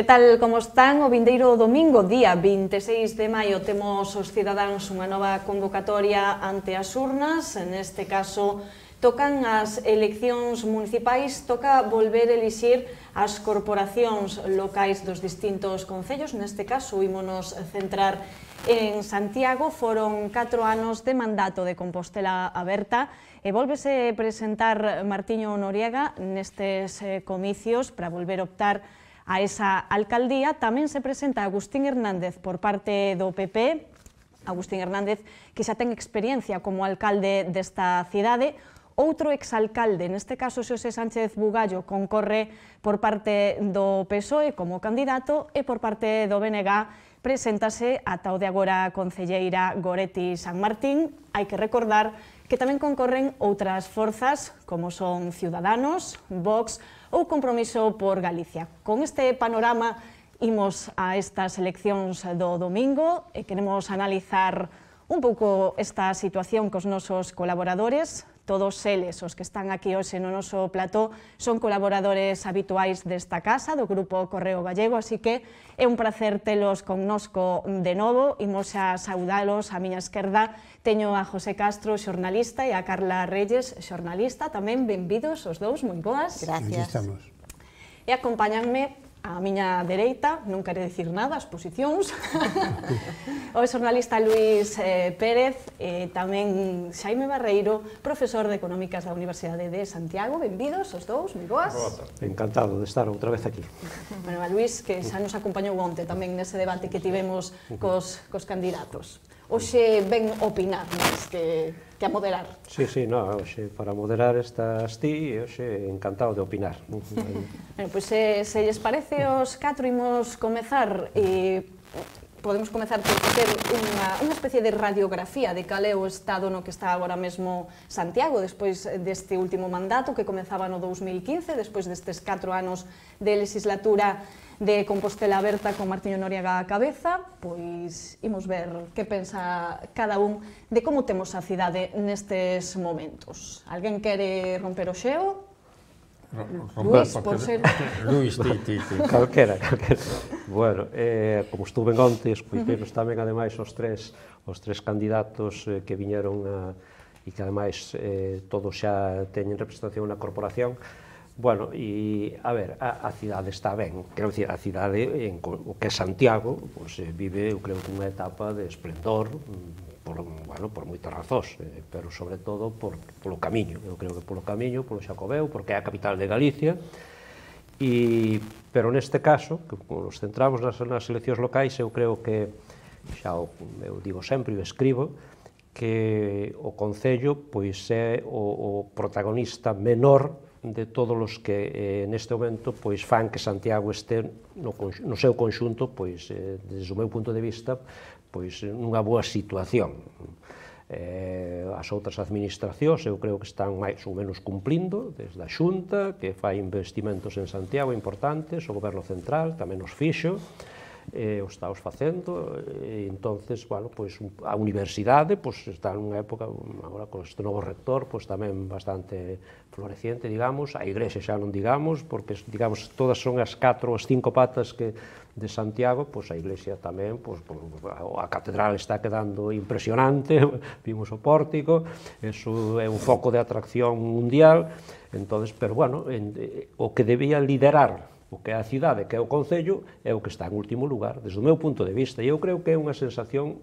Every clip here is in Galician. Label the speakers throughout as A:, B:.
A: Que tal, como están? O vindeiro domingo, día 26 de maio, temos os cidadáns unha nova convocatoria ante as urnas. Neste caso, tocan as eleccións municipais, toca volver a elixir as corporacións locais dos distintos concellos. Neste caso, ímonos centrar en Santiago. Foron 4 anos de mandato de Compostela Aberta e volvese presentar Martiño Noriega nestes comicios para volver a optar a esa alcaldía. Tamén se presenta Agustín Hernández por parte do PP, Agustín Hernández que xa ten experiencia como alcalde desta cidade. Outro exalcalde, neste caso Xosé Sánchez Bugallo, concorre por parte do PSOE como candidato e por parte do BNG preséntase ata o de agora concelleira Goretti San Martín. Hai que recordar que tamén concorren outras forzas como son Ciudadanos, Vox ou Compromiso por Galicia. Con este panorama imos a estas eleccións do domingo e queremos analizar un pouco esta situación cos nosos colaboradores. Todos eles, os que están aquí hoxe no noso plató, son colaboradores habituais desta casa, do Grupo Correo Gallego, así que é un placer telos connosco de novo. Imos a saudalos. A miña esquerda teño a José Castro, xornalista, e a Carla Reyes, xornalista. Tamén benvidos os dous, moi boas.
B: Gracias.
A: E acompáñanme a miña dereita, non quere dicir nada, as posicións, o xornalista Luís Pérez e tamén Xaime Barreiro, profesor de Económicas da Universidade de Santiago. Benvidos os dous, moi boas.
C: Encantado de estar outra vez aquí.
A: Bueno, a Luís, que xa nos acompañou onte tamén nese debate que tivemos cos candidatos. Hoxe ven opinar, máis que a moderar.
C: Sí, hoxe para moderar estás ti e hoxe encantado de opinar.
A: Bueno, pois se lles parece os 4 imos comezar e podemos comezar por facer unha especie de radiografía de cal é o estado no que está agora mesmo Santiago despois deste último mandato que comezaba no 2015, despois destes 4 anos de legislatura de Compostela Aberta con Martiño Noriega á cabeza. Pois imos ver que pensa cada un de como temos a cidade nestes momentos. Alguén quere romper o xeo? Luís, por ser...
B: Luís, ti.
C: Calquera. Bueno, como estuve ontes, pois tamén ademais os tres candidatos que viñeron e que ademais todos xa teñen representación na corporación. Bueno, e, a ver, a cidade está ben, quero dicir, a cidade, o que é Santiago, vive, eu creo, unha etapa de esplendor, por moitas razóns, pero sobre todo polo camiño, eu creo que polo camiño, polo Xacobeo, porque é a capital de Galicia, pero neste caso, que nos centramos nas eleccións locais, eu creo que, xa eu digo sempre e escribo, que o Concello pois é o protagonista menor de todos os que neste momento pois fan que Santiago este no seu conxunto, pois desde o meu punto de vista, pois nunha boa situación. As outras administracións eu creo que están máis ou menos cumplindo, desde a Xunta, que fai investimentos en Santiago importantes, o Goberno Central tamén os fixo, o está os facendo, e entonces, bueno, pois a universidade pois está nunha época, agora con este novo rector, pois tamén bastante floreciente, digamos, a Igrexa xa non digamos, porque, digamos, todas son as 4 ou as 5 patas que de Santiago, pois a Iglesia tamén, pois a catedral está quedando impresionante, vimos o pórtico, eso é un foco de atracción mundial, entonces, pero, bueno, o que debía liderar o que é a cidade, que é o Concello, é o que está en último lugar, desde o meu punto de vista, e eu creo que é unha sensación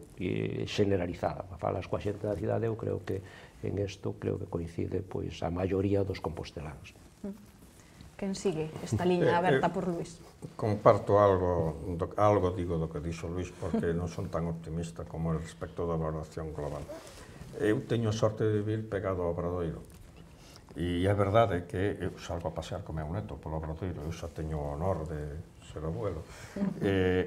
C: generalizada. Falas coa xente da cidade, eu creo que en isto creo que coincide pois a maioría dos compostelanos.
A: Quen sigue esta liña aberta por Luís?
B: Comparto algo digo do que dixo Luís, porque non son tan optimista como respecto da valoración global. Eu teño sorte de vivir pegado ao Obradoiro. E é verdade que eu salgo a pasear co meu neto polo Obradoiro, eu xa teño o honor de ser abuelo,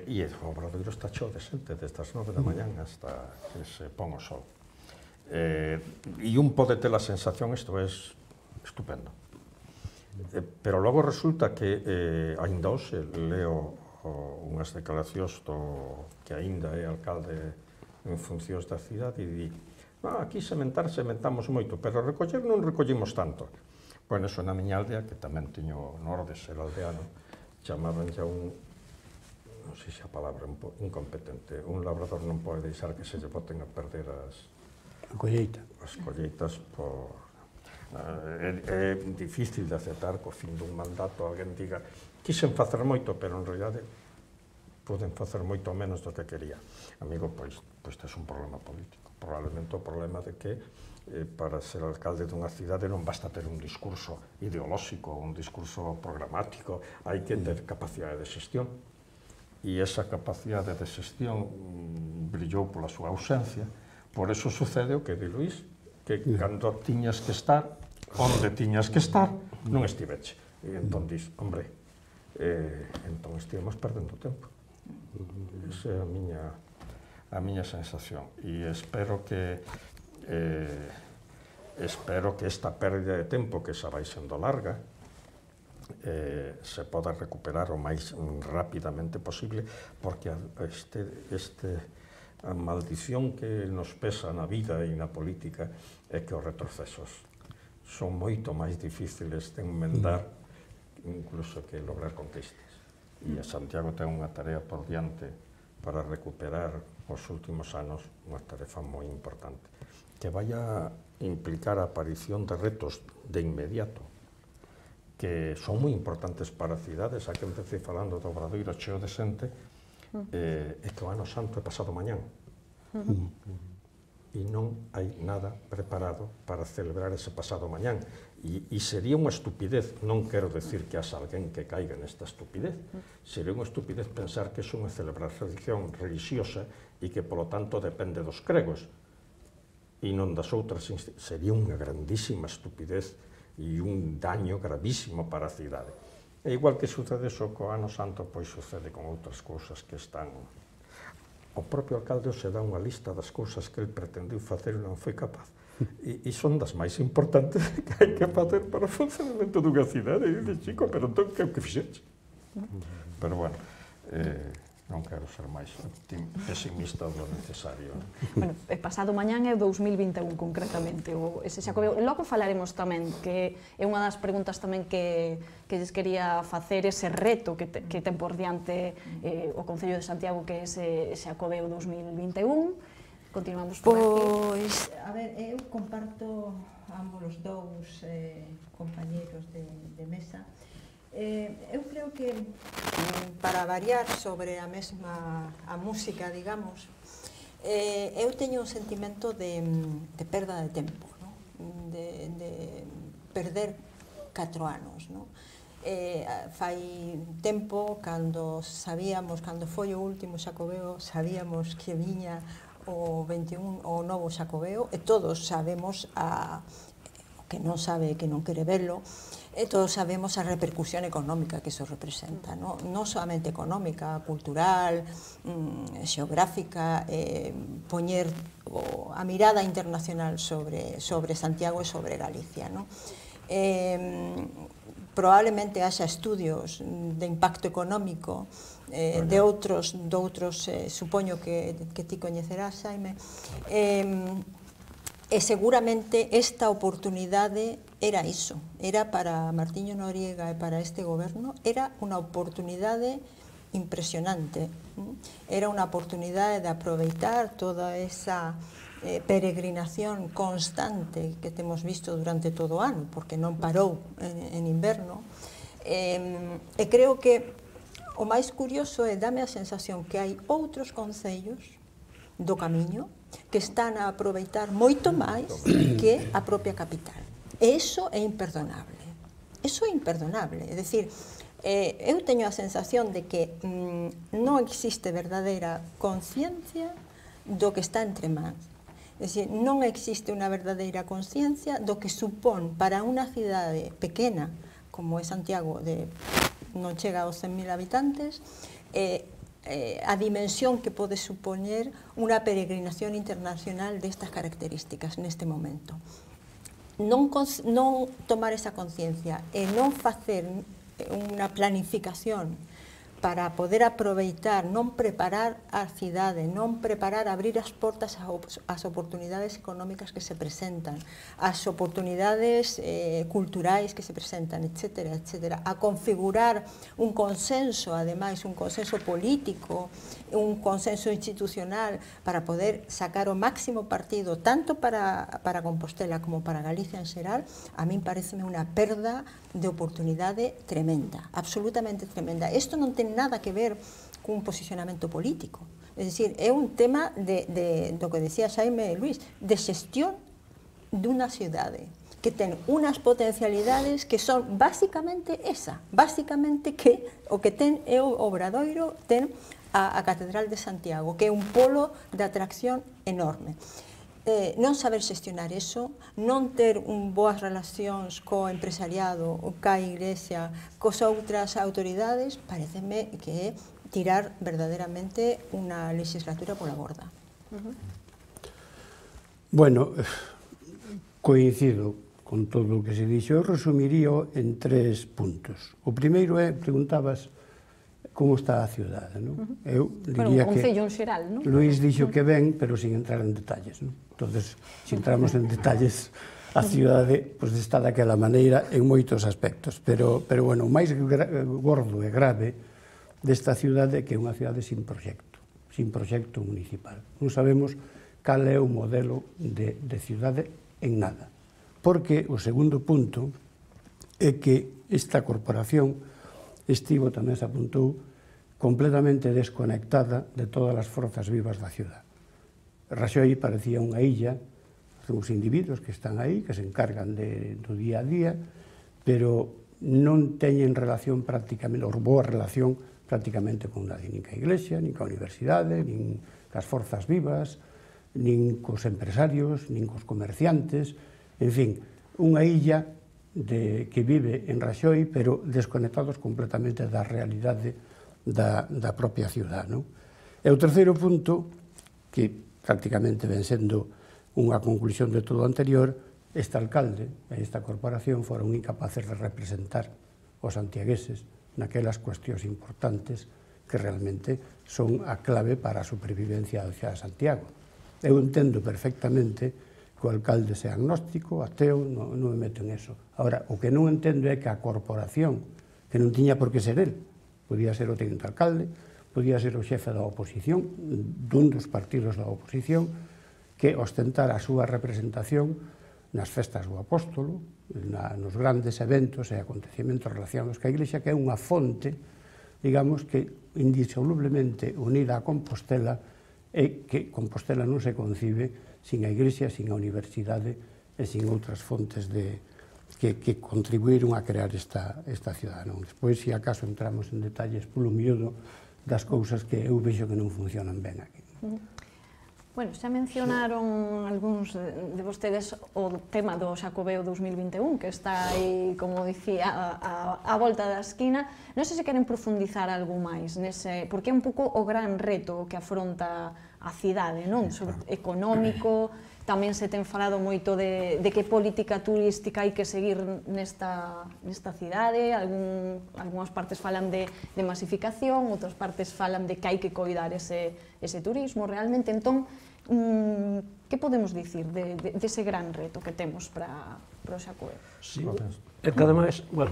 B: e o Obradoiro está cheo de xente desde as 9 da mañán hasta que se pon o sol. E un pode ter a sensación, isto é estupendo. Pero logo resulta que ainda hoxe leo unhas declaracións do que ainda é alcalde en funcións da cidade e di aquí sementamos moito, pero recoller non recollimos tanto. Bueno, eso na miña aldea, que tamén teño honor de ser aldeano, chamaban xa un non sei se a palabra incompetente, un labrador non pode deixar que se lle boten a perder as colleitas por... É difícil de aceptar que ao fin dun mandato alguén diga quixen facer moito, pero en realidade poden facer moito menos do que quería. Amigo, pois tes un problema político. Probablemente o problema de que para ser alcalde dunha cidade non basta ter un discurso ideolóxico, un discurso programático, hai que ter capacidade de xestión. E esa capacidade de xestión brillou pola súa ausencia. Por eso sucede o que di Luís, que cando tiñas que estar, onde tiñas que estar, non estiveche. E entón dis, hombre, entón estivemos perdendo tempo. Esa é a miña sensación. E espero que esta pérdida de tempo, que xa vai sendo larga, se poda recuperar o máis rapidamente posible, porque a maldición que nos pesa na vida e na política é que os retrocesos son moito máis difíciles de enmendar incluso que lograr conquistas. E a Santiago ten unha tarea por diante para recuperar os últimos anos, unha tarefa moi importante, que vai a implicar a aparición de retos de inmediato, que son moi importantes para as cidades. A que empecé falando do Obradoiro cheo de xente, é que o Ano Santo é pasado mañán. E non hai nada preparado para celebrar ese pasado mañán. E sería unha estupidez, non quero decir que haxa alguén que caiga nesta estupidez, sería unha estupidez pensar que é unha celebración religiosa e que, polo tanto, depende dos cregos e non das outras. Sería unha grandísima estupidez e un daño gravísimo para a cidade. E igual que sucede iso co Ano Santo, pois sucede con outras cousas que están... O propio alcalde se dá unha lista das cousas que ele pretendeu facer e non foi capaz. E son das máis importantes que hai que facer para o funcionamento dunha cidade. E dice, chico, pero entón que fixeche? Pero bueno, non quero ser máis pesimista do necesario.
A: Bueno, pasado mañán é o 2021 concretamente, ese Xacobeo. Logo falaremos tamén, que é unha das preguntas tamén que lles quería facer, ese reto que ten por diante o Concello de Santiago, que é ese Xacobeo 2021. Continuamos por aquí.
D: Pois, a ver, eu comparto ambos os dous compañeiros de mesa. Eu creo que, para variar sobre a mesma a música, digamos, eu teño un sentimento de perda de tempo, de perder 4 anos. Fai tempo, cando foi o último Xacobeo, sabíamos que viña o 21, o novo Xacobeo, e todos sabemos, o que non sabe, que non quere verlo, e todos sabemos a repercusión económica que iso representa, non solamente económica, cultural, xeográfica, poñer a mirada internacional sobre Santiago e sobre Galicia. Probablemente haxa estudios de impacto económico de outros, supoño que ti coñecerás, Xaime, e seguramente esta oportunidade era iso, era para Martiño Noriega e para este goberno, era unha oportunidade impresionante, era unha oportunidade de aproveitar toda esa peregrinación constante que temos visto durante todo o ano, porque non parou en inverno, e creo que o máis curioso é, dame a sensación que hai outros concellos do camiño que están a aproveitar moito máis que a propia capital. E iso é imperdonable. Iso é imperdonable. É dicir, eu teño a sensación de que non existe verdadeira conciencia do que está entre mans. É dicir, non existe unha verdadeira conciencia do que supón para unha cidade pequena, como é Santiago, non chega aos 100.000 habitantes, a dimensión que pode supoñer unha peregrinación internacional destas características neste momento. Non tomar esa conciencia e non facer unha planificación para poder aproveitar, non preparar a cidade, non preparar, abrir as portas ás oportunidades económicas que se presentan, as oportunidades culturais que se presentan, etcétera, etcétera, a configurar un consenso, ademais, un consenso político, un consenso institucional para poder sacar o máximo partido, tanto para Compostela como para Galicia en xeral, a min pareceme unha perda de oportunidade tremenda, absolutamente tremenda. Isto non ten nada que ver cun posicionamento político. É dicir, é un tema do que decía Xaime Luís, de xestión dunha cidade que ten unas potencialidades que son basicamente esa, basicamente que o que ten é o Obradoiro, ten a Catedral de Santiago, que é un polo de atracción enorme. Non saber xestionar eso, non ter boas relacións co empresariado, ca Iglesia, cos outras autoridades, pareceme que é tirar verdadeiramente unha legislatura pola borda.
E: Bueno, coincido con todo o que se dixo. Eu resumiría en 3 puntos. O primeiro é, preguntabas, como está a cidade, non? Eu diría que...
A: Pero un concello en xeral, non?
E: Luís dixo que ben, pero sin entrar en detalles, non? Entonces, se entramos en detalles, a cidade pois, está daquela maneira en moitos aspectos. Pero bueno, o máis gordo e grave desta cidade é que é unha cidade sin proxecto municipal. Non sabemos cal é o modelo de cidade en nada. Porque o segundo punto é que esta corporación estivo, tamén se apuntou, completamente desconectada de todas as forzas vivas da cidade. Raxoi parecía unha illa, os individuos que están aí, que se encargan do día a día, pero non teñen relación prácticamente, ou boa relación prácticamente con nadie, nin ca Iglesia, nin ca Universidade, nin cas forzas vivas, nin cos empresarios, nin cos comerciantes, en fin, unha illa que vive en Raxoi, pero desconectados completamente da realidade da propia cidade. E o terceiro punto, que prácticamente ven sendo unha conclusión de todo o anterior, este alcalde e esta corporación foron incapaces de representar os santiagueses naquelas cuestións importantes que realmente son a clave para a supervivencia da cidade de Santiago. Eu entendo perfectamente que o alcalde sea agnóstico, ateo, non me meto en eso. Ahora, o que non entendo é que a corporación, que non tiña por que ser el, podía ser o teniente alcalde, podía ser o xefe da oposición, dun dos partidos da oposición, que ostentara a súa representación nas festas do apóstolo, nos grandes eventos e acontecementos relacionados ca Iglesia, que é unha fonte, digamos, que indisolublemente unida a Compostela, e que Compostela non se concibe sin a Iglesia, sin a Universidade e sin outras fontes que contribuíron a crear esta cidade. Despois, se acaso entramos en detalles polo miúdo das cousas que eu vexo que non funcionan ben aquí.
A: Bueno, xa mencionaron algúns de vostedes o tema do Xacobeo 2021, que está aí, como dicía, a volta da esquina. Non sei se queren profundizar algo máis nese, porque é un pouco o gran reto que afronta a cidade, non? Económico, tamén se ten falado moito de que política turística hai que seguir nesta cidade, algunhas partes falan de masificación, outras partes falan de que hai que coidar ese turismo realmente. Entón, que podemos dicir dese gran reto que temos para o Xacobeo?
C: Sí, é que ademais, bueno,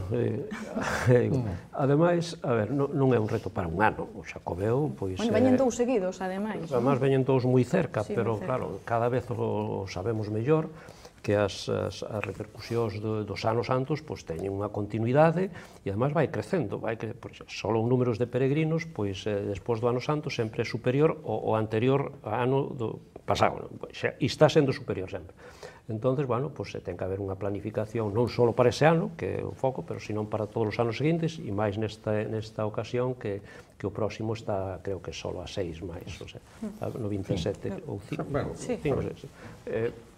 C: ademais, a ver, non é un reto para un ano, o Xacobeo, pois...
A: Bueno, veñen dous seguidos, ademais.
C: Ademais, veñen dous moi cerca, pero, claro, cada vez o sabemos mellor, que as repercusións dos anos santos pois teñen unha continuidade e ademais vai crecendo, só en números de peregrinos, pois despois do ano santo sempre é superior ao anterior ano do pasado, e está sendo superior sempre. Entonces, bueno, pois ten que haber unha planificación non só para ese ano, que é o foco, pero senón para todos os anos seguintes, e máis nesta ocasión que o próximo está, creo que só a 6 máis, o sea, no 27 ou 5, 6.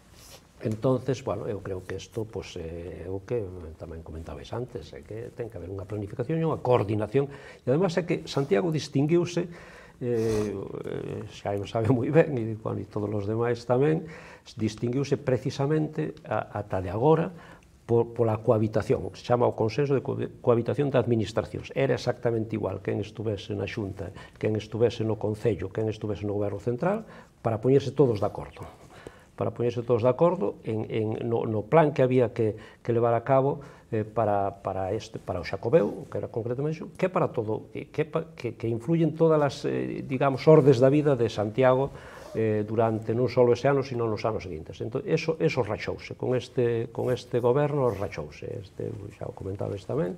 C: Entonces, bueno, eu creo que isto é o que tamén comentabais antes, é que ten que haber unha planificación e unha coordinación, e además é que Santiago distinguiuse, xa non sabe moi ben, e todos os demais tamén, distinguiuse precisamente ata de agora pola cohabitación, o que se chama o consenso de cohabitación de administracións. Era exactamente igual quen estuvese na Xunta, quen estuvese no Concello, quen estuvese no Goberno Central, para poñerse todos de acordo. Para poñerse todos de acordo no plan que había que levar a cabo para o Xacobeo, que era concretamente que para todo, que influyen todas as, digamos, ordes da vida de Santiago durante non só ese ano, sino nos anos seguintes. Entón, eso rachouse, con este goberno rachouse. Xa o comentades tamén,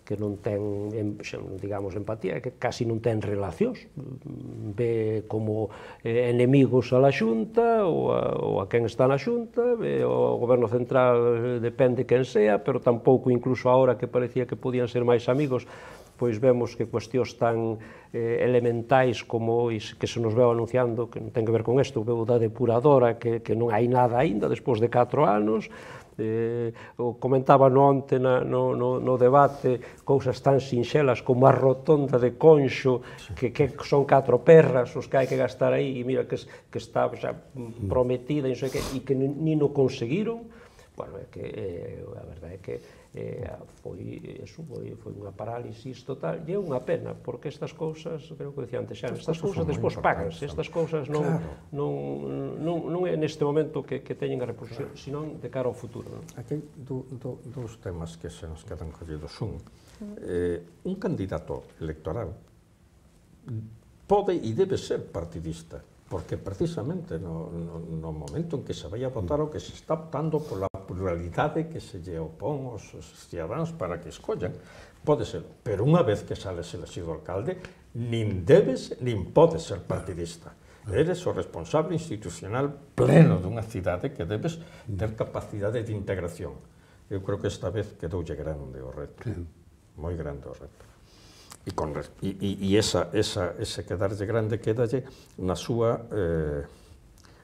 C: que non ten, digamos, empatía, que casi non ten relacións, ve como enemigos a la Xunta ou a quen está na Xunta, o goberno central depende quen sea, pero tampouco incluso ahora que parecía que podían ser máis amigos, pois vemos que cuestións tan elementais como que se nos veu anunciando, que non ten que ver con isto, veu da depuradora, que non hai nada aínda despois de 4 anos, comentaba onte no debate cousas tan sinxelas como a rotonda de Conxo, que son 4 perras os que hai que gastar aí, e mira que está prometida e que nin o conseguiron. Bueno, é que a verdade é que foi unha parálisis total, e é unha pena, porque estas cousas, creo que decía antes xa, estas cousas despois paganse, estas cousas non é neste momento que teñen a repercusión, senón de cara ao futuro.
B: Aquí hai dous temas que se nos quedan collidos. Un candidato electoral pode e debe ser partidista, porque precisamente no momento en que se vai a votar o que se está optando pola pluralidade que se lle opón aos cidadáns para que escollan, pode ser, pero unha vez que sales elegido alcalde, nin debes nin podes ser partidista. Eres o responsable institucional pleno dunha cidade que debes ter capacidade de integración. Eu creo que esta vez quedoulle grande o reto, moi grande o reto. E ese quedarlle grande quedalle na súa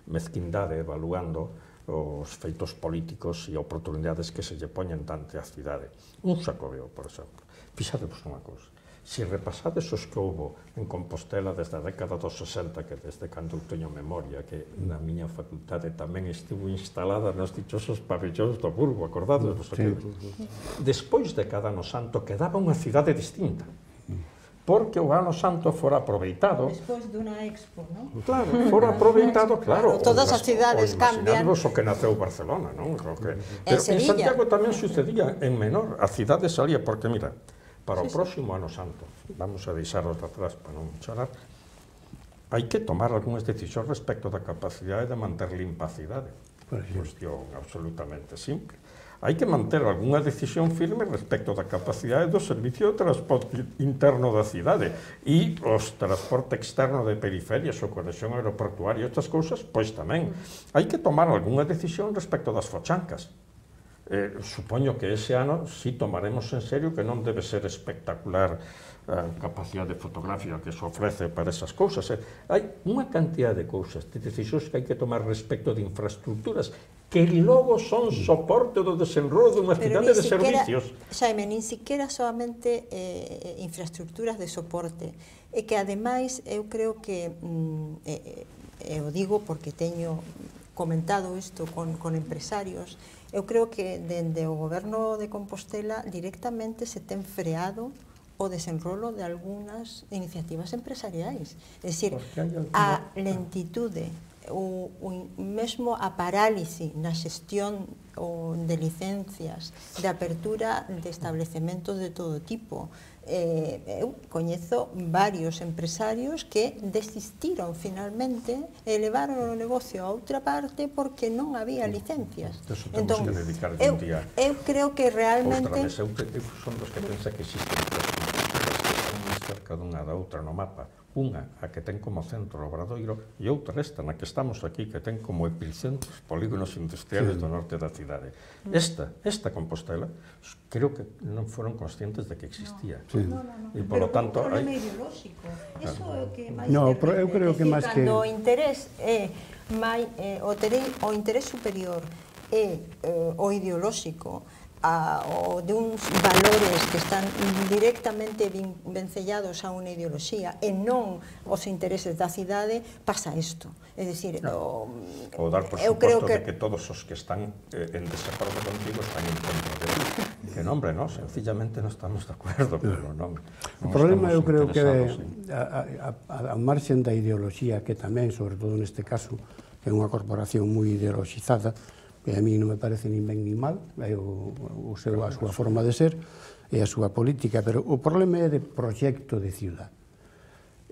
B: mezquindade, evaluando os feitos políticos e oportunidades que se lle poñen dante a cidade. Un Xacobeo, por exemplo. Fixadevos unha cousa. Se repasades os que houbo en Compostela desde a década dos 60, que desde cando eu teño memoria, que na miña facultade tamén estivo instalada nos dichosos pabellóns do Burgo, acordádevos? Despois de cada ano santo quedaba unha cidade distinta, porque o ano santo fora aproveitado.
D: Despois dunha expo, non?
B: Claro, fora aproveitado, claro.
D: Todas as cidades cambian.
B: Imaginadvos o que naceu Barcelona, non? Pero en Santiago tamén sucedía en menor. A cidade salía, porque mira, para o próximo ano santo, vamos a deixaros de atrás para non chorar, hai que tomar algunhas decisións respecto da capacidade de manter limpa a cidade. Cuestión absolutamente simple. Hai que manter algunha decisión firme respecto da capacidade do servicio de transporte interno da cidade e os transporte externo de periferias ou conexión aeroportuaria, estas cousas, pois tamén. Hai que tomar algunha decisión respecto das fochancas. Supoño que ese ano si tomaremos en serio que non debe ser espectacular a capacidade fotográfica que se ofrece para esas cousas. Hai unha cantidad de cousas, de decisións que hai que tomar respecto de infraestructuras que logo son soporte do desenrolo dunha cidade de servicios.
D: Xaime, nin siquiera solamente infraestructuras de soporte, e que ademais eu creo que, eu digo porque teño comentado isto con empresarios, eu creo que dende o goberno de Compostela directamente se ten freado o desenrolo de algunhas iniciativas empresariais. É dicir, a lentitude, o mesmo a parálisis na xestión de licencias, de apertura de estabelecementos de todo tipo. Eu coñezo varios empresarios que desistiron finalmente e levaron o negocio a outra parte porque non había licencias.
B: Entón,
D: eu creo que realmente...
B: Eu son dos que pensa que existen máis cerca dunha da outra no mapa. Unha, a que ten como centro o Obradoiro, e outra esta, na que estamos aquí, que ten como epicentros polígonos industriales do norte da cidade. Esta Compostela, creo que non foron conscientes de que existía. E, polo tanto...
D: Pero un problema ideolóxico. Iso é o que máis...
E: No, eu creo que máis que...
D: Cando o interés é o interés superior é o ideolóxico, de uns valores que están directamente vencellados a unha ideoloxía e non os intereses da cidade, pasa isto. É dicir,
B: ou dar por suposto de que todos os que están en desacordo contigo están en contra de ti. Que non, hombre, non, sencillamente non estamos de acordo, pero non.
E: O problema eu creo que a marxen da ideoloxía, que tamén, sobre todo neste caso, que é unha corporación moi ideoloxizada, que a mí non me parece nin ben nin mal, é a súa forma de ser e a súa política, pero o problema é de proxecto de ciudad.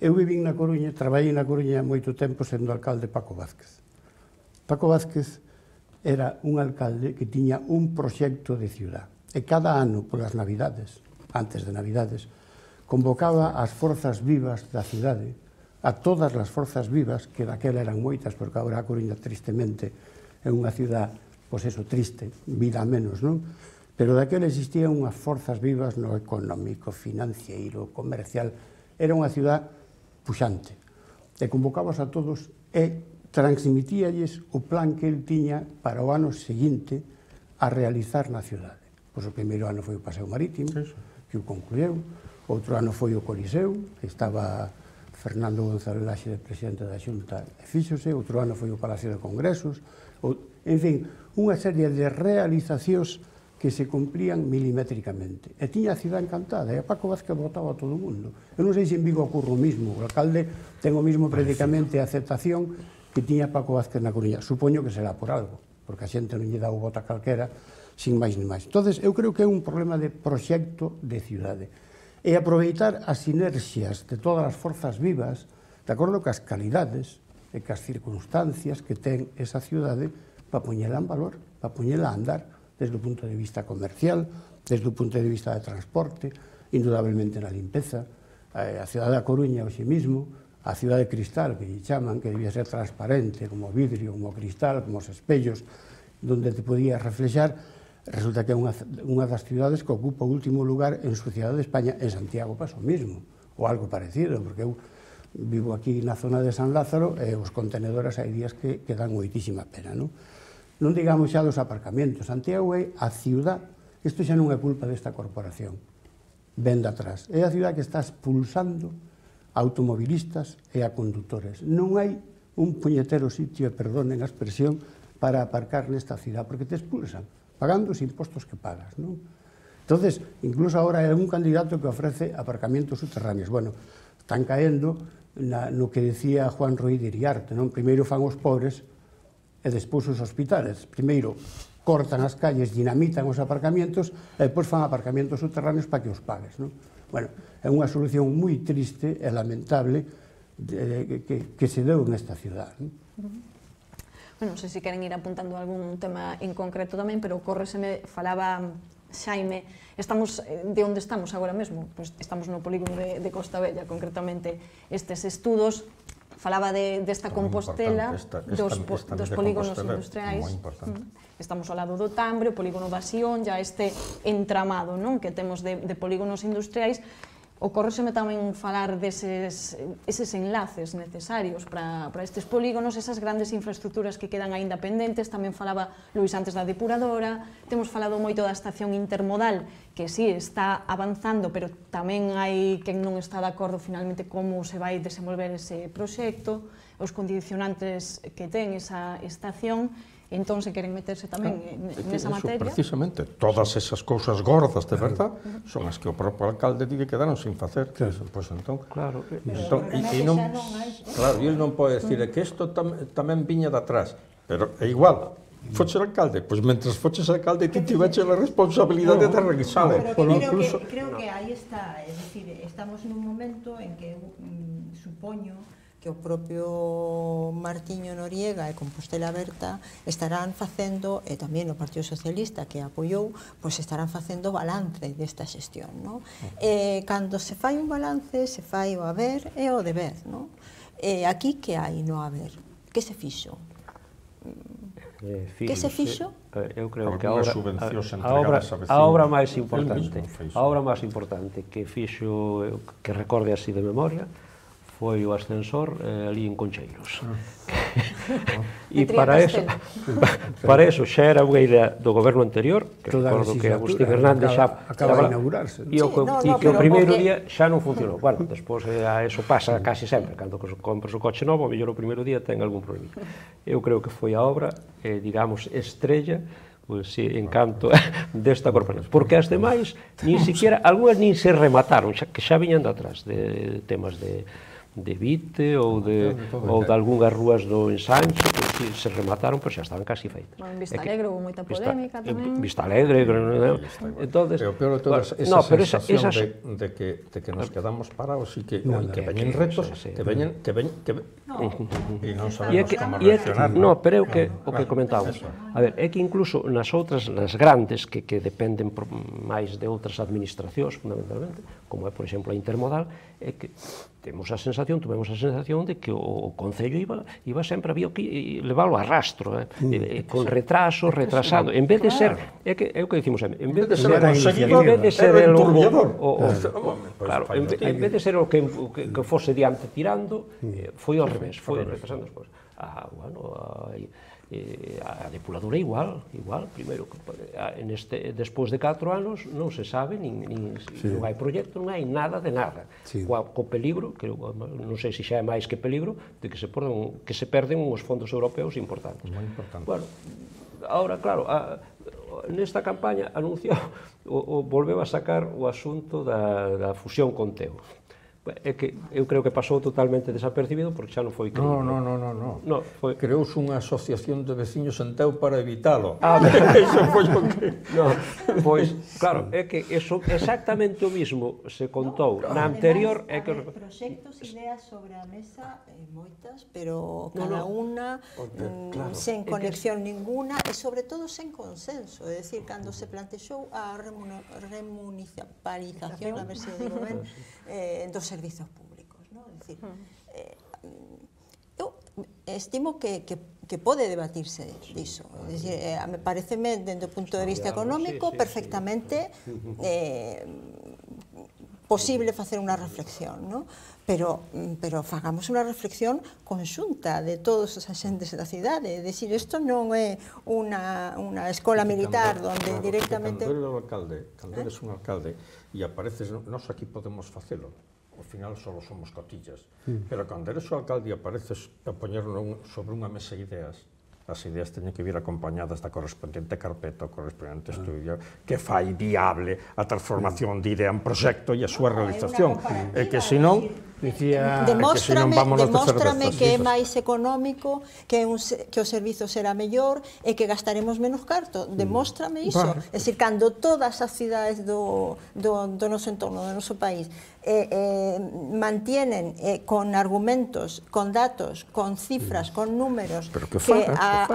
E: Eu vivín na Coruña, traballei na Coruña moito tempo sendo alcalde Paco Vázquez. Paco Vázquez era un alcalde que tiña un proxecto de ciudad e cada ano, polas Navidades, antes de Navidades, convocaba as forzas vivas da cidade, a todas as forzas vivas, que daquela eran moitas, porque agora a Coruña, tristemente, é unha ciudad, pois eso, triste, vida menos, non? Pero daquela existían unhas forzas vivas no económico, financiero, comercial. Era unha ciudad puxante. E convocabas a todos e transmitíalles o plan que el tiña para o ano seguinte a realizar na cidade. Pois o primeiro ano foi o Paseo Marítimo, que o concluiu. Outro ano foi o Coliseu, que estaba Fernando González Laxe de presidente da Xunta e fíxose. Outro ano foi o Palacio de Congresos. En fin, unha serie de realizacións que se cumplían milimétricamente. E tiña a cidade encantada, e a Paco Vázquez votaba a todo o mundo. Eu non sei se en Vigo ocurre o mismo, o alcalde ten o mismo predicamento e aceptación que tiña Paco Vázquez na Coruña. Supoño que será por algo, porque a xente non lle dá o voto a calquera, sin máis ni máis. Entón, eu creo que é un problema de proxecto de cidade. E aproveitar as sinerxias de todas as forzas vivas, de acordo cas calidades e cas circunstancias que ten esa cidade, para poñela en valor, para poñela a andar desde o punto de vista comercial, desde o punto de vista de transporte, indudablemente na limpeza. A cidade da Coruña hoxe mismo, a cidade de cristal, que lle chaman, que debía ser transparente, como vidrio, como cristal, como os espellos, donde te podías reflexar, resulta que é unha das cidades que ocupa o último lugar en suciedade de España. En Santiago pasa o mismo, ou algo parecido, porque eu vivo aquí na zona de San Lázaro e os contenedores hai días que dan moitísima pena, non? Non digamos xa dos aparcamentos. Santiago é a ciudad, isto xa non é culpa desta corporación, ven de atrás. É a ciudad que está expulsando a automobilistas e a conductores. Non hai un puñetero sitio, e perdonen a expresión, para aparcar nesta ciudad, porque te expulsan, pagando os impostos que pagas, non? Entonces, incluso agora hai un candidato que ofrece aparcamientos subterráneos. Bueno, están caendo no que decía Juan Ruiz de Iriarte, non? Primeiro fan os pobres e despois os hospitales. Primeiro cortan as calles, dinamitan os aparcamientos e despois fan aparcamientos subterráneos para que os pagues, non? Bueno, é unha solución moi triste e lamentable que se deu nesta ciudad, non?
A: Non sei se queren ir apuntando algún tema en concreto tamén, pero correseme, falaba Xaime, estamos de onde estamos agora mesmo? Pois estamos no polígono de Costa Bella, concretamente estes estudos. Falaba desta Compostela, dos polígonos industriais. Estamos ao lado do Tambre, o polígono da Sion, ya este entramado que temos de polígonos industriais. Ocórreseme tamén falar deses enlaces necesarios para estes polígonos, esas grandes infraestructuras que quedan aínda pendentes. Tamén falaba Luís antes da depuradora, temos falado moito da estación intermodal, que sí, está avanzando, pero tamén hai quen non está de acordo finalmente como se vai desenvolver ese proxecto, os condicionantes que ten esa estación. Entón, se queren meterse tamén nesa materia...
B: Precisamente, todas esas cousas gordas, de verdad, son as que o propio alcalde di que quedaron sin facer. Pois entón...
C: Claro.
B: Claro, e ele non pode decir que isto tamén viña de atrás, pero é igual. Foches alcalde, pois mentres foches alcalde ti tiveches a responsabilidade de revisalo.
D: Creo que aí está, é dicir, estamos nun momento en que supoño que o propio Martiño Noriega e Compostela Aberta estarán facendo, e tamén o Partido Socialista que apoiou, pois estarán facendo balance desta xestión, non? Cando se fai un balance, se fai o haber e o deber, non? Aquí que hai no haber? Que se fixo? Que se fixo?
C: Eu creo que a obra máis importante que fixo, que recorde así de memoria, foi o ascensor ali en Concheiros. E para eso xa era unha idea do goberno anterior, que recordo que Agustín Hernández xa
E: acaba de inaugurarse.
C: E que o primeiro día xa non funcionou. Bueno, despois eso pasa casi sempre, cando compras o coche novo, o mellor o primeiro día ten algún problema. Eu creo que foi a obra, digamos, estrella, pois, encanto desta corporación. Porque as demais, nin siquiera, algunhas nin se remataron, que xa viñan de atrás, de temas de Vite ou de algunhas rúas do Ensanche, que se remataron, pero xa estaban casi feitas.
A: En Vista Alegre houve moita polémica tamén.
C: Vista Alegre,
B: Pero peor de todas, esa sensación de que nos quedamos parados e que veñen retos, que veñen e non sabemos como reaccionar.
C: No, pero é o que comentamos. A ver, é que incluso nas outras, nas grandes, que dependen máis de outras administracións, fundamentalmente, como é, por exemplo, a Intermodal, é que tivemos a sensación de que o Concello iba sempre, había que leválo a rastro, con retraso, retrasando, en vez de ser, é o que dicimos sempre, en vez de ser o que fose diante tirando, foi ao revés, foi retrasando as cousas. A depuradora igual, primeiro, despois de 4 anos non se sabe, non hai proxecto, non hai nada de nada. Co peligro, que non sei se xa é máis que peligro, de que se perden uns fondos europeos importantes.
B: Moi importante.
C: Bueno, ahora, claro, nesta campaña anunciou, volveu a sacar o asunto da fusión con Teo. É que eu creo que pasou totalmente desapercibido porque xa non foi creíble.
B: Non. Creouse unha asociación de veciños en Teo para evitalo. Eso foi o que...
C: Pois, claro, é que exactamente o mismo se contou na anterior...
D: Proxectos, ideas sobre a mesa, moitas, pero cada unha sen conexión ninguna e sobre todo sen consenso. É dicir, cando se plantexou a remunicipalización, a ver se o digo ben, dos servizos públicos, non? É dicir, eu estimo que pode debatirse diso. É dicir, me pareceme, dende o punto de vista económico, perfectamente posible facer unha reflexión, non? Pero fagamos unha reflexión conxunta de todos os axentes da cidade. É dicir, isto non é unha escola militar onde directamente...
B: Cando eres un alcalde e apareces, nós aquí podemos facelo, ao final só somos cotillas, pero cando eres o alcalde e apareces a poñer sobre unha mesa ideas, as ideas teñen que vir acompañadas da correspondente carpeta, o correspondente estudio, que fai viable a transformación de idea en proxecto e a súa realización. E que senón...
D: Demóstrame que é máis económico, que o servizo será mellor e que gastaremos menos carto. Demóstrame iso. É dicir, cando todas as cidades do noso entorno, do noso país, mantienen con argumentos, con datos, con cifras, con números, que a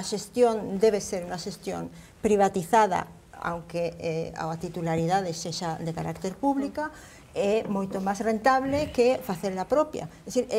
D: xestión debe ser unha xestión privatizada, aunque a titularidade sexa de carácter pública, é moito máis rentable que facer a propia. É dicir,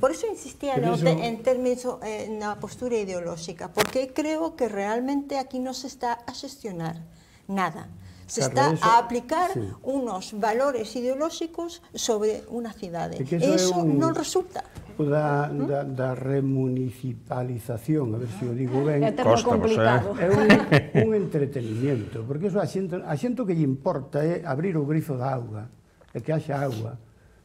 D: por iso insistía en términos na postura ideolóxica, porque creo que realmente aquí non se está a xestionar nada. Se está a aplicar unos valores ideolóxicos sobre unha cidade. E iso non resulta.
E: Da remunicipalización, a ver se o digo ben,
A: é termo complicado.
E: É un entretenimiento, porque iso a xente que lle importa é abrir o grifo da auga, e que haxa agua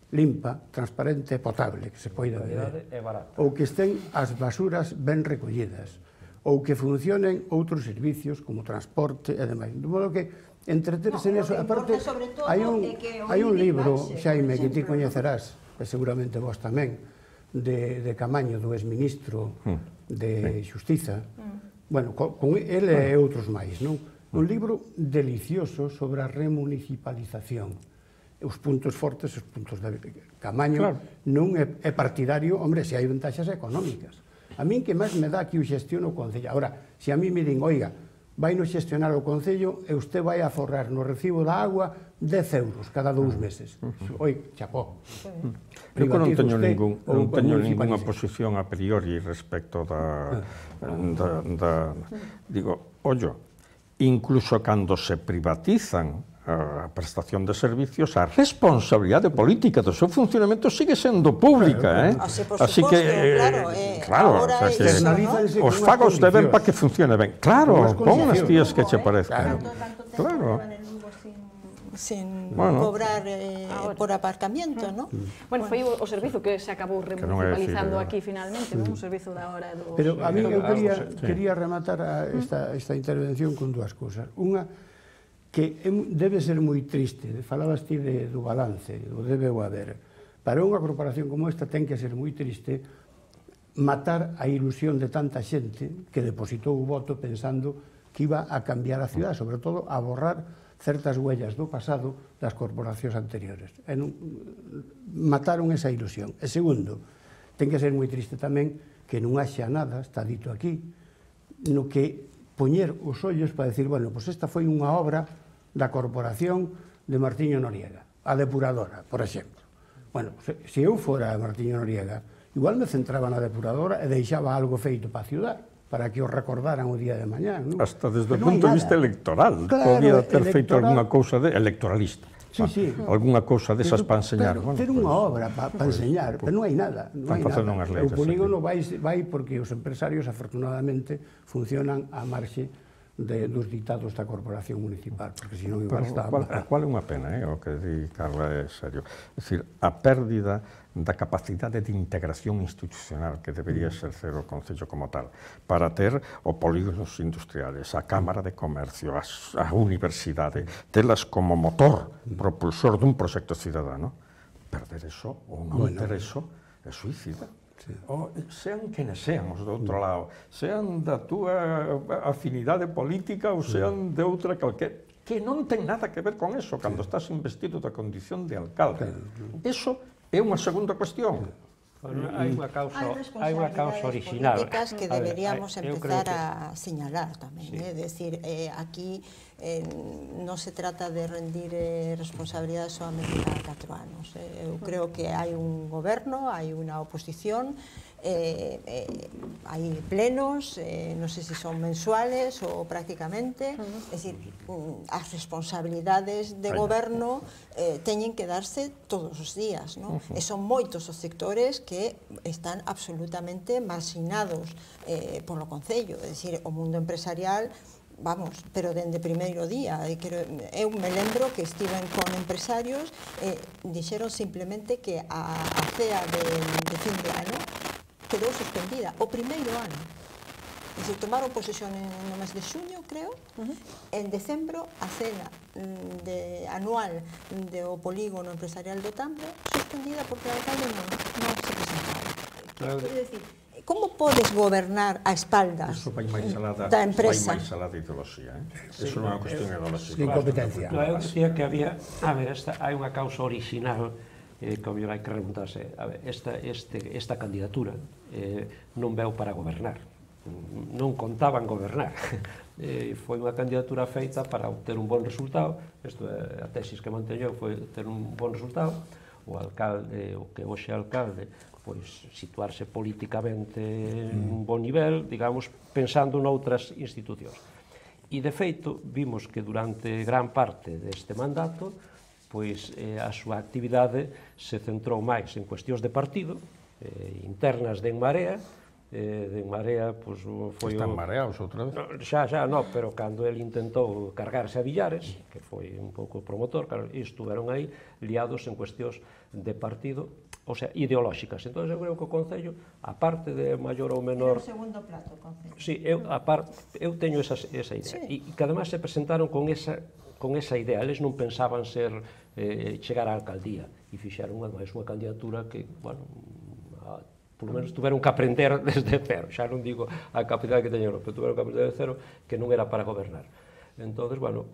E: limpa, transparente e potable, que se poida beber, ou que estén as basuras ben recollidas, ou que funcionen outros servicios como transporte e demais. De modo que entreterse neso, aparte, hai un libro, Xaime, que ti coñecerás, e seguramente vos tamén, de Camaño, do exministro de Xustiza, bueno, con ele e outros máis, non? Un libro delicioso sobre a remunicipalización. Os puntos fortes, os puntos de Camaño, non é partidario, hombre, se hai ventaxas económicas. A min que máis me dá que o xestiono o Concello. Ahora, se a mí me din, oiga, vai no xestionar o Concello e usted vai a forrar no recibo da agua 10 euros cada 2 meses. Oi, chapó.
B: Eu non teño ninguna posición a priori respecto da... Digo, ollo, incluso cando se privatizan a prestación de servicios, a responsabilidade política do seu funcionamento sigue sendo pública,
D: Así que,
B: claro, os fagos deben para que funcione ben. Claro, pon as tías que che parezcan. Claro.
D: Sin cobrar por aparcamiento, ¿no?
A: Bueno, foi o servizo que se acabou remunicipalizando aquí finalmente, un servizo da hora dos...
E: Pero a mí eu quería rematar esta intervención con dúas cousas. Unha, que debe ser moi triste, falabas ti do balance, o debe o haber. Para unha corporación como esta ten que ser moi triste matar a ilusión de tanta xente que depositou o voto pensando que iba a cambiar a cidade, sobre todo a borrar certas huellas do pasado das corporacións anteriores. Mataron esa ilusión. E segundo, ten que ser moi triste tamén que non haxa nada, está dito aquí, no que poñer os ollos para decir, bueno, pois esta foi unha obra da corporación de Martiño Noriega, a depuradora, por exemplo. Bueno, se eu fora Martiño Noriega, igual me centraba na depuradora e deixaba algo feito para a ciudad, para que os recordaran o día de mañán.
B: Hasta desde o punto de vista electoral, podía ter feito algunha cousa electoralista. Algunha cousa desas para enseñar.
E: Ter unha obra para enseñar, pero non hai nada. O polígono vai porque os empresarios, afortunadamente, funcionan á marxe dos ditados da corporación municipal, porque senón igual está...
B: A cual é unha pena, o que di Carla é serio. É dicir, a pérdida da capacidade de integración institucional que debería exercer o Concello como tal, para ter o polígonos industriales, a Cámara de Comercio, a Universidade, telas como motor propulsor dun proxecto cidadano. Perder eso, ou non ter eso, é suicida. Sean quenes sean os do outro lado, sean da túa afinidade política ou sean de outra calquera, que non ten nada que ver con eso cando estás investido da condición de alcalde. Eso é unha segunda cuestión.
C: Hai unha causa original
D: que deberíamos empezar a señalar tamén, é dicir, aquí non se trata de rendir responsabilidade solamente cada 4 anos. Eu creo que hai un goberno, hai unha oposición, hai plenos, non sei se son mensuales ou prácticamente, é dicir, as responsabilidades de goberno teñen que darse todos os días, e son moitos os sectores que están absolutamente marxinados polo Concello, é dicir, o mundo empresarial, vamos, pero dende primeiro día. Eu me lembro que estiven con empresarios e dixeron simplemente que a cea de fin de ano quedou suspendida o primeiro ano. Se tomaron posesión no mes de xuño, creo, en decembro a cena anual do polígono empresarial do Tambo suspendida porque o alcalde non se presentaba. Quero dicir, como podes gobernar a espaldas da empresa?
B: Vai máis alá de ideoloxía, Eso non é unha cuestión ideolóxica.
E: De incompetencia.
C: Eu dicía que había, hai unha causa original que hai que remontarse. Esta candidatura non veu para gobernar, non contaban gobernar. Foi unha candidatura feita para obter un bon resultado. Isto é a tesis que manteñou, foi ter un bon resultado. O alcalde, o que hoxe é alcalde, pois situarse políticamente en un bon nivel, digamos, pensando noutras institucións. E, de feito, vimos que durante gran parte deste mandato, pois a súa actividade se centrou máis en cuestións de partido, internas de En Marea. De En Marea, pois, foi...
B: Están mareados outra vez?
C: Xa, no, pero cando el intentou cargarse a Villares, que foi un pouco promotor, claro, estuveron aí liados en cuestións de partido, ou sea, ideolóxicas. Entón, eu creo que o Concello, aparte de maior ou menor...
D: Era o segundo plato, o Concello.
C: Sí, eu teño esa idea. E que además se presentaron con esa idea. Eles non pensaban chegar á alcaldía e fixeron unha candidatura que, bueno, por lo menos tuveron que aprender desde cero. Xa non digo a capacidade que teñeron, pero tuveron que aprender desde cero que non era para gobernar. Entonces, bueno,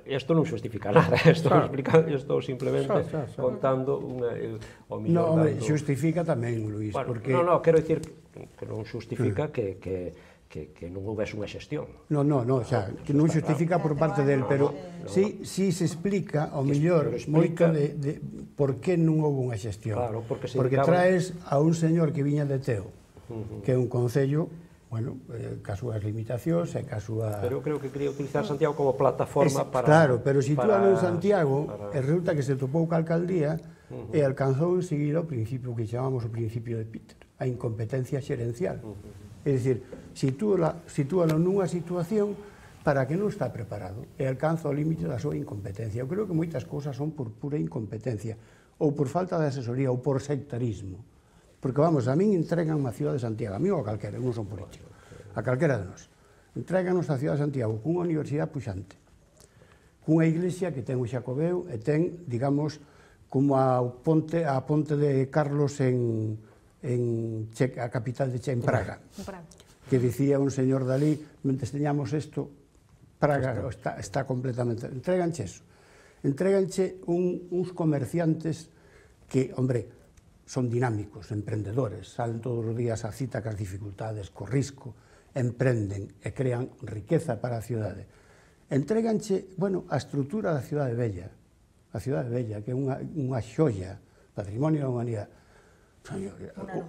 C: isto non xustifica nada, estou simplemente contando o millón
E: dando... Non, xustifica tamén, Luís, porque...
C: Non, quero dicir que non xustifica que non houvese unha xestión.
E: Non, xa, que non xustifica por parte del, pero sí se explica, ao mellor, moito de por que non houve unha xestión.
C: Claro, porque
E: traes a un señor que viña de Teo, que é un concello bueno, ca súas limitacións e ca súa...
C: Pero eu creo que quería utilizar Santiago como plataforma para...
E: Claro, pero situalo en Santiago, e resulta que se topou ca alcaldía e alcanzou enseguida o principio que chamamos o principio de Peter, a incompetencia xerencial. É dicir, sitúalo nunha situación para que non está preparado e alcanza o límite da súa incompetencia. Eu creo que moitas cousas son por pura incompetencia, ou por falta de asesoría, ou por sectarismo. Porque, vamos, a min entregan a cidade de Santiago, a mí ou a calquera, eu non son político, a calquera de nós. Entreganos a cidade de Santiago cunha universidade puxante, cunha iglesia que ten o Xacobeo e ten, digamos, como a ponte de Carlos en a capital de Che, en Praga, que dicía un señor Dalí, mentre teñamos isto, Praga está completamente... Entréganche eso. Entréganche uns comerciantes que, hombre, son dinámicos, emprendedores, salen todos os días a cita cas dificultades, co risco, emprenden e crean riqueza para a cidade. Entréganche, bueno, a estrutura da cidade bella, que é unha xoia, patrimonio da humanidade.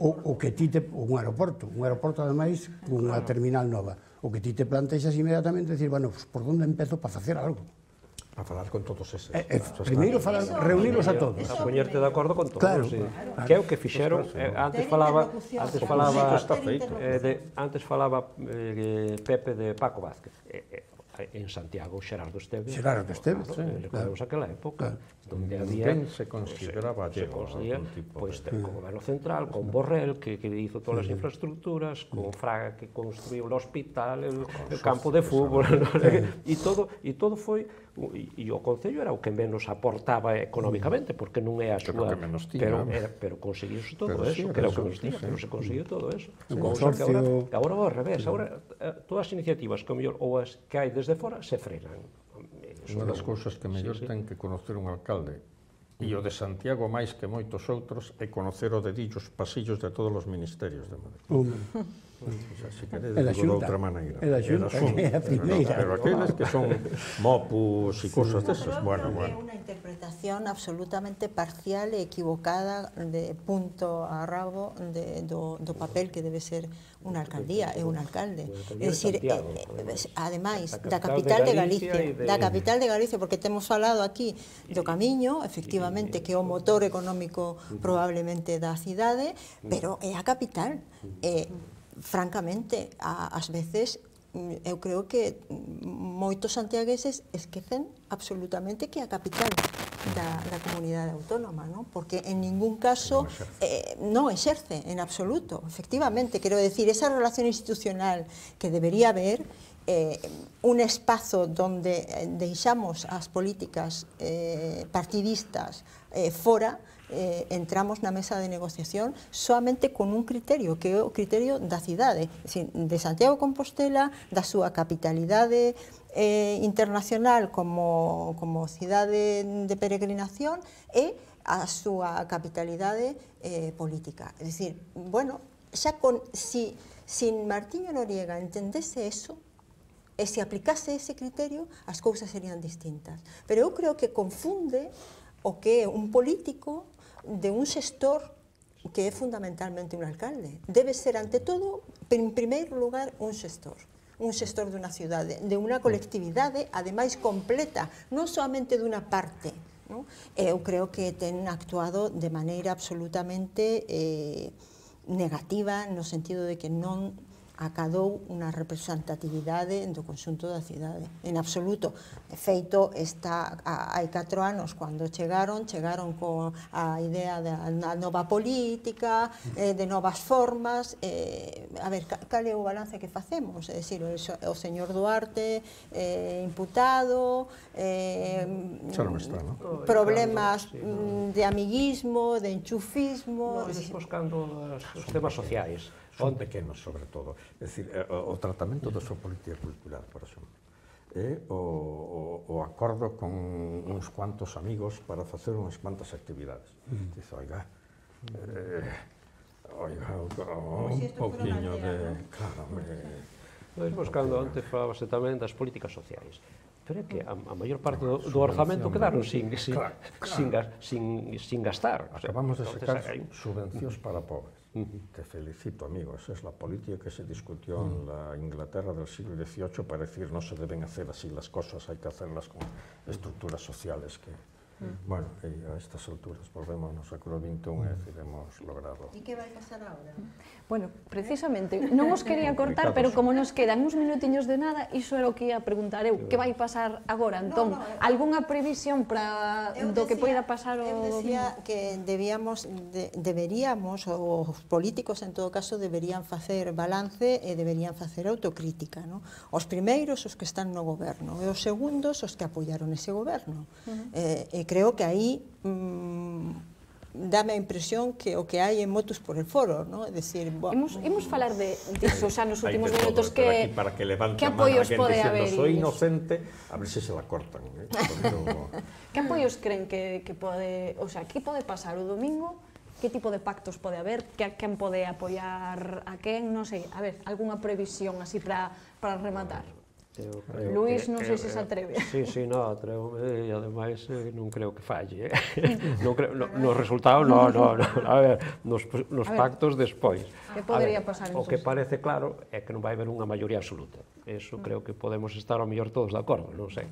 E: O que ti te... un aeroporto ademais, unha terminal nova. O que ti te plantexas inmediatamente, decir, bueno, por onde empezo para facer algo?
B: A falar con todos eses.
E: Primeiro reunilos a todos.
C: A poñerte de acordo con todos.
E: Claro.
C: Que é o que fixeron. Antes falaba Pepe de Paco Vázquez. En Santiago, Xerardo Esteves. Recordemos aquela época, donde había...
B: Ninguén se consideraba allego a algún tipo.
C: Pois con o Goberno Central, con Borrell, que hizo todas as infraestructuras, con Fraga, que construiu o hospital, el campo de fútbol, e todo foi... E o Concello era o que menos aportaba económicamente, porque non é a súa... Pero conseguiuse todo eso, que era o que menos tiña, pero se conseguiu todo eso. Agora ao revés, agora todas as iniciativas que ou as que hai desde fora se frenan.
B: Unha das cousas que mellor ten que conocer un alcalde, e o de Santiago máis que moitos outros, é conocer o dedillo, os pasillos de todos os ministerios de Madrid. Se queredes, digo de outra maneira.
E: É da Xunta, que é a primeira.
B: Pero aqueles que son mopus e cousas desas, bueno.
D: É unha interpretación absolutamente parcial e equivocada de punto a rabo do papel que debe ser unha alcaldía e un alcalde. É dicir, ademais, da capital de Galicia, porque temos falado aquí do Camiño, efectivamente, que é o motor económico probablemente da cidade, pero é a capital. Francamente, ás veces, eu creo que moitos santiagueses esquecen absolutamente que é a capital da comunidade autónoma, non? Porque en ningún caso non exerce en absoluto, efectivamente, quero decir, esa relación institucional que debería haber, un espazo donde deixamos as políticas partidistas fora, entramos na mesa de negociación solamente con un criterio, que é o criterio da cidade, de Santiago de Compostela, da súa capitalidade internacional como cidade de peregrinación e a súa capitalidade política. É dicir, bueno, xa si Martiño Noriega entendese eso, e se aplicase ese criterio, as cousas serían distintas. Pero eu creo que confunde o que é un político de un xestor que é fundamentalmente un alcalde. Debe ser, ante todo, en primeiro lugar, un xestor de unha cidade, de unha colectividade, ademais completa, non solamente de unha parte. Eu creo que ten actuado de maneira absolutamente negativa, no sentido de que non acadou unha representatividade do conxunto da cidade, en absoluto. De feito, hai 4 anos, cando chegaron coa idea da nova política, de novas formas. A ver, cal é o balance que facemos? É dicir, o señor Duarte imputado, problemas de amiguismo, de enchufismo...
C: Despois, cando os temas sociais,
B: son pequenos, sobre todo. É dicir, o tratamento da súa política cultural, por exemplo, é o acordo con uns cuantos amigos para facer unhas cuantas actividades. Dice, oiga, un pouquiño de... Claro,
C: Despois, cando antes falábase tamén das políticas sociais, pero é que a maior parte do orzamento quedaron sin gastar.
B: Acabamos de sacar subvencións para pobres. Te felicito, amigo. Esa es la política que se discutió en la Inglaterra del siglo XVIII para decir no se deben hacer así las cosas, hay que hacerlas con estructuras sociales que... Bueno, a estas alturas volvemos ao século XXI e decir, hemos logrado...
D: E que vai pasar agora?
A: Bueno, precisamente, non os quería cortar, pero como nos quedan uns minutiños de nada, iso era o que ia preguntar eu. Que vai pasar agora, Antón? Algunha previsión para do que poida pasar o domingo?
D: Eu decía que deberíamos, os políticos en todo caso, deberían facer balance e deberían facer autocrítica, non? Os primeiros, os que están no goberno, e os segundos, os que apoiaron ese goberno. E creo que aí dame a impresión que o que hai é motus por el foro, ¿no? É dicir,
A: Imos falar disso xa nos últimos minutos, que
B: apoios
A: pode haber?
B: Soy inocente, a ver se la cortan.
A: Que apoios creen que pode, o sea, que pode pasar o domingo? Que tipo de pactos pode haber? Quen pode apoiar a quen? Non sei, a ver, algunha previsión así para rematar? Luís, non sei se se atreve.
C: Sí, non, atrevo, e ademais non creo que falle. Non creo, no resultado, non, a ver, nos pactos despois.
A: Que podería pasar?
C: O que parece claro é que non vai haber unha maioría absoluta. Eso creo que podemos estar ao mellor todos de acordo, non sei.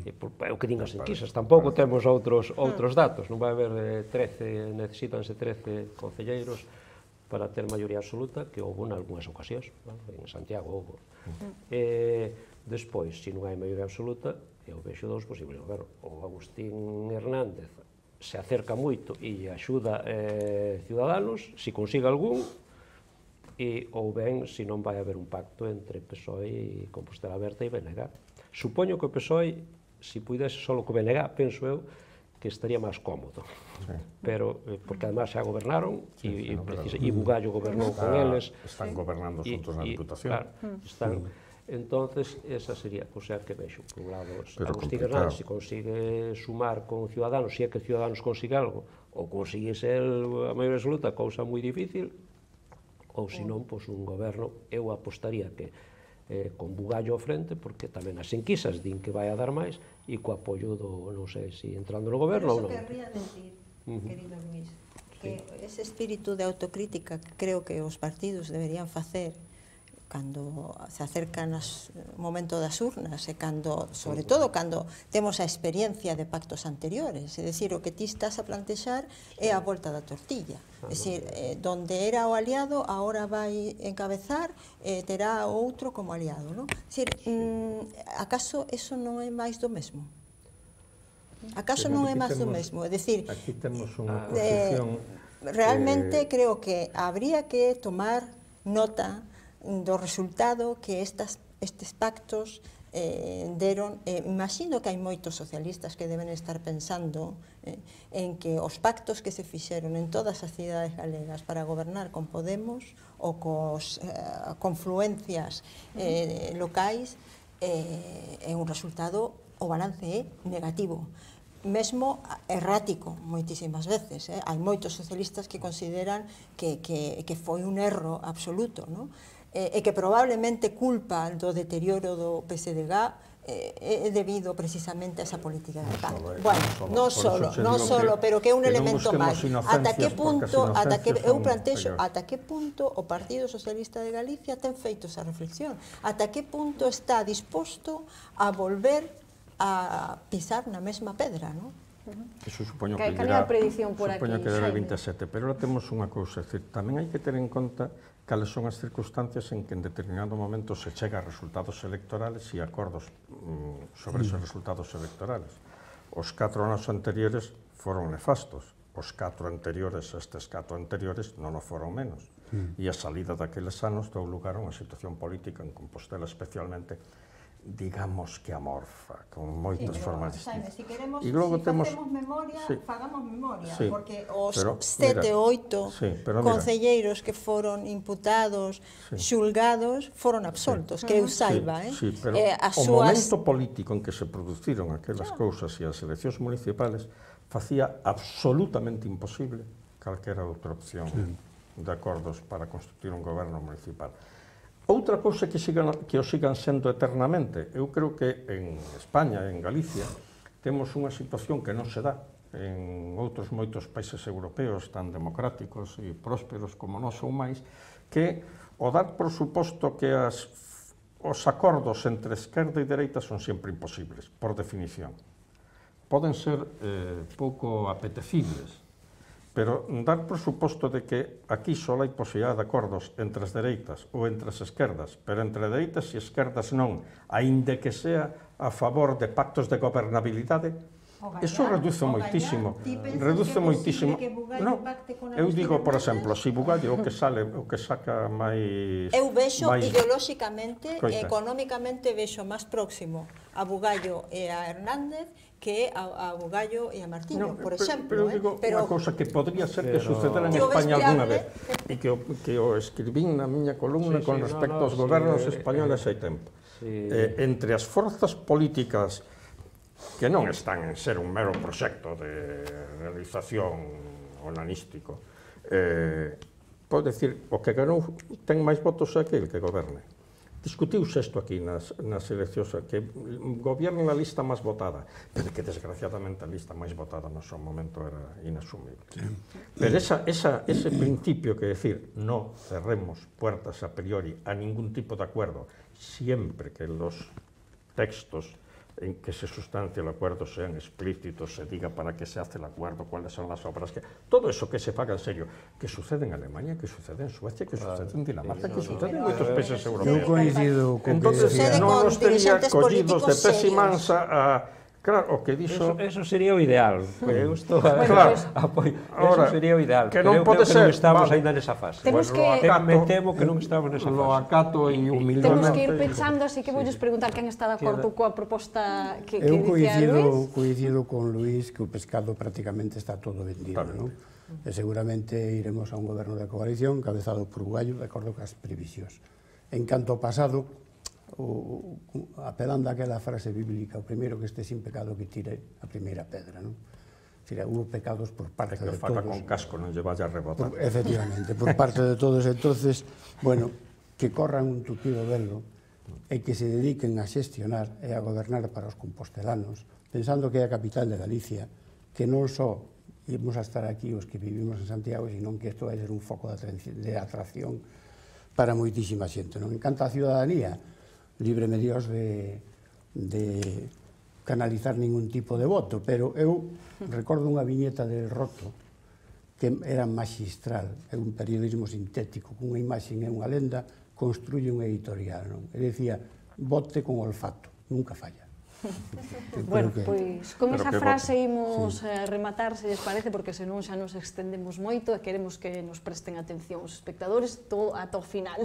C: É o que din as enquisas, tampouco temos outros datos, non vai haber 13, necesítanse 13 concelleiros para ter maioría absoluta, que houve en algunhas ocasións, en Santiago houve. Despois, se non hai maioría absoluta, eu vexo dous posibles gobernos. O Agustín Hernández se acerca moito e axuda Ciudadanos, se consiga algún, ou ben, se non vai haber un pacto entre PSOE e Compostela Aberta e BNG. Supoño que o PSOE, se pudese só co BNG, penso eu, que estaría máis cómodo. Pero, porque además xa gobernaron, e Bugallo gobernou con eles.
B: Están gobernando xuntos na Diputación.
C: Claro, están... Entonces, esa sería a cousa que vexo. Por un lado, Agustín Hernández, se consigue sumar con Ciudadanos, se é que Ciudadanos consigue algo, ou consigue ser a maioría absoluta, cousa moi difícil, ou senón, pois, un goberno, eu apostaría que con Bugallo ao frente, porque tamén as enquisas din que vai a dar máis, e co apoio do, non sei, se entrando no goberno ou non.
D: Pero eso querría decir, querido Luís, que ese espírito de autocrítica que creo que os partidos deberían facer cando se acercan o momento das urnas e cando, sobre todo, cando temos a experiencia de pactos anteriores, é dicir, o que ti estás a plantexar é a volta da tortilla, é dicir, donde era o aliado, agora vai encabezar e terá outro como aliado, non? É dicir, acaso eso non é máis do mesmo? Acaso non é máis do mesmo? É dicir,
B: aquí temos unha posición...
D: Realmente creo que habría que tomar nota do resultado que estes pactos deron. Imagino que hai moitos socialistas que deben estar pensando en que os pactos que se fixeron en todas as cidades galegas para gobernar con Podemos ou cos confluencias locais é un resultado, o balance é negativo, mesmo errático moitísimas veces. Hai moitos socialistas que consideran que foi un erro absoluto, non? E que probablemente culpa do deterioro do PSDG é debido precisamente a esa política de pacto. Bueno, non solo, pero que é un elemento máis. Ata que punto, eu plantexo, ata que punto o Partido Socialista de Galicia ten feito esa reflexión? Ata que punto está disposto a volver a pisar na mesma pedra, non?
B: Eso supoño que
A: dirá, supoño
B: que dirá el 27, pero ahora temos unha cousa, é dicir, tamén hai que ter en conta cales son as circunstancias en que en determinado momento se chega a resultados electorales e acordos sobre esos resultados electorales. Os 4 anos anteriores foron nefastos, os 4 anteriores, estes 4 anteriores, non o foron menos. E a salida daqueles anos deu lugar a unha situación política en Compostela especialmente, digamos que amorfa, con moitas formas distintas.
D: Se queremos, se facemos memoria, fagamos memoria, porque os 7 ou 8 concelleiros que foron imputados, xulgados, foron absoltos, que eu saiba.
B: Pero o momento político en que se produciron aquelas cousas e as eleccións municipales facía absolutamente imposible calquera outra opción de acordos para constituir un goberno municipal. Outra cousa que o sigan sendo eternamente, eu creo que en España, en Galicia, temos unha situación que non se dá, en outros moitos países europeos tan democráticos e prósperos como nós ou máis, que o dar por suposto que os acordos entre esquerda e dereita son sempre imposibles, por definición. Poden ser pouco apetecibles, pero dar por suposto de que aquí só hai posibilidade de acordos entre as dereitas ou entre as esquerdas, pero entre dereitas e esquerdas non, aínda que sea a favor de pactos de gobernabilidade, eso reduce moitísimo. Reduce moitísimo. Non, eu digo, por exemplo, se Bugallo o que saca máis...
D: Eu vexo ideolóxicamente e económicamente vexo máis próximo a Bugallo e a Hernández que a Bugallo e a Martiño, por exemplo.
B: Pero unha cousa que podría ser que sucedera en España alguna vez, e que o escribín na miña columna con respecto aos gobernos españoles hai tempo. Entre as forzas políticas que non están en ser un mero proxecto de realización onanístico, pode dicir, o que ganou ten máis votos aquel que goberne. Discutiuse isto aquí nas eleccións, que goberna a lista máis votada, pero que desgraciadamente a lista máis votada no seu momento era inasumible. Pero ese principio que decir, no cerremos puertas a priori a ningún tipo de acuerdo, siempre que los textos en que se sustancia el acuerdo sean explícitos, se diga para qué se hace el acuerdo, cuáles son las obras, todo eso que se paga en serio, que sucede en Alemania, que sucede en Suecia, que sucede en Dinamarca, que sucede en muchos países europeos.
E: Eu coincido con
B: entonces, non nos tería collidos de pésimansa a... Claro, o que dixo...
C: Eso sería o ideal. Eu estou
B: Eso
C: sería o ideal.
B: Que non pode ser...
C: Non estamos ainda nesa fase. Me temo que non estamos nesa fase.
B: Lo acato e humildemente...
A: Temos que ir pechando, así que voulles preguntar quen está de acordo coa proposta que dicía Luís.
E: Eu coincido con Luís que o pescado prácticamente está todo vendido, non? E seguramente iremos a un goberno de coalición cabezado por Bugallo, de acordo cas previsións. En canto ao pasado, apelando àquela frase bíblica, o primeiro que este sin pecado que tire a primeira pedra, non? Hubo pecados por parte de todos.
B: Que faca con casco, non lle vaya a rebotar.
E: Efectivamente, por parte de todos. Entonces, bueno, que corran un tupido velo e que se dediquen a xestionar e a gobernar para os compostelanos, pensando que é a capital de Galicia, que non só íbamos a estar aquí os que vivimos en Santiago, sino que isto vai ser un foco de atracción para moitísima xente. Non encanta a ciudadanía, libre medios de canalizar ningún tipo de voto, pero eu recordo unha viñeta del Roto que era magistral, é un periodismo sintético, cunha imaxe e unha lenda, construye un editorial, non? E decía, vote con olfato, nunca falla.
A: Bueno, pois con esa frase imos rematar, se lles parece, porque senón xa nos extendemos moito e queremos que nos presten atención os espectadores ata o final.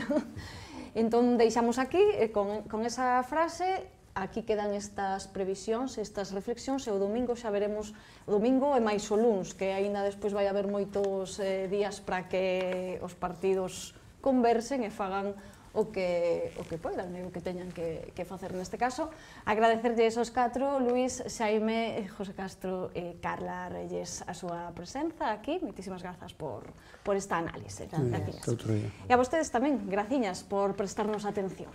A: Entón, deixamos aquí, con esa frase, aquí quedan estas previsións, estas reflexións, e o domingo xa veremos, o domingo e máis o luns, que aínda despois vai haber moitos días para que os partidos conversen e fagan o que poidan, o que teñan que facer neste caso. Agradecerlles aos 4, Luís, Xaime, José Castro e Carla Reyes a súa presenza aquí. Moitísimas grazas por esta análise. E a vostedes tamén, graciñas por prestarnos atención.